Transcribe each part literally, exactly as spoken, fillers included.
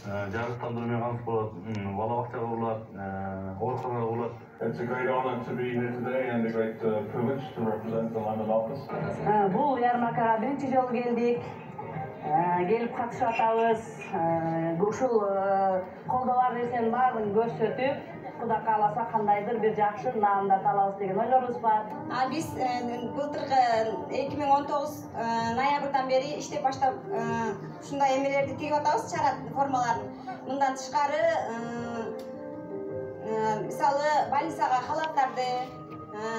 жарыктандыруу менен камсыз болот, бала бакчага курулат, ооруканага курулат. It's a great honor to be here today and a great uh, privilege to represent the London office. Бул ярмаркага биринчи жолу келдик. Келип катышып атабыз. Ушул колдоо нерсенин баарын көрсөтүп, Кудай кааласа кандайдыр бир жакшы наамдар алабыз деген ойлорубуз бар. А биз былтыркы эки миң он тогуз ноябрдан бери иштеп баштап ушундай эмелерди тигип атабыз, чара формаларын. Мындан тышкары мисалы больницага халаттарды,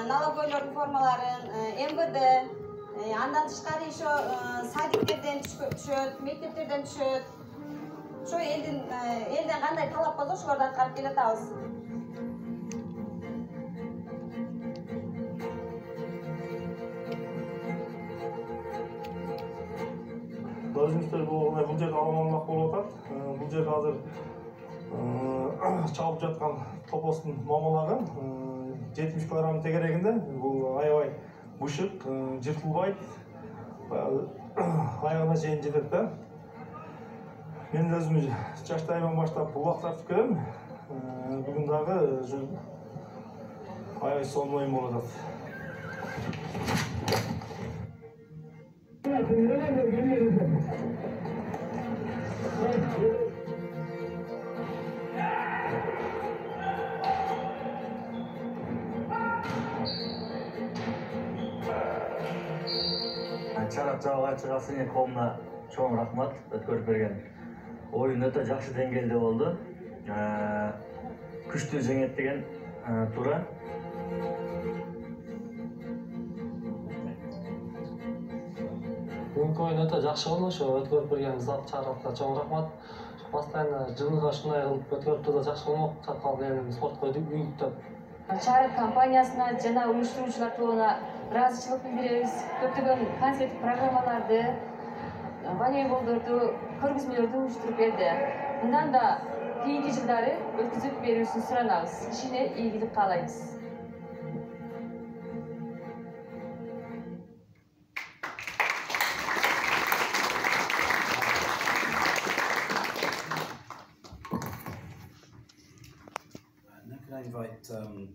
налоговойлордун формаларын, эм вэ дэ, андан тышкары еще садиктерден түшөт, мектептерден түшөт. Ошо элдин элден кандай талап болсо ошолорду аткарып келатабыз. Өзүңүздөр бул жерде аламалмак болуп атат. Бул жерде азыр чалып жаткан топостун момолагы жетимиш килограмм тегерегинде. Бул аябай бышык, жыртылбайт, аягына чейин жетет да. Мен өзүм жаштайымдан баштап булак тартып келем. Бүгүн дагы аябай сонун болуп атат. Чарап жабгачы Сыйын коомуна чоң рахмат өткөрүп берген. Оюн өтө жакшы деңгээлде болду. Күчтүү жеңет деген туура. Бүгүнкү оюн өтө жакшы болду. Ошо өткөрүп берген зал чарапка чоң рахмат. Постоянно жылга ушундай кылып өткөрүп турса жакшы болмок. Чаткал эми спортко үйүктөп. Чарап компаниясына жана уюштуруучулар тобуна ыраазычылык билдиребиз. Көптөгөн концерттик программаларды, волейболдорду, көргөзмөлөрдү уюштуруп берди. Мындан да кийинки жылдары өткүзүп берүүсүн суранабыз. Ишине ийгилик каалайбыз. Now can I invite um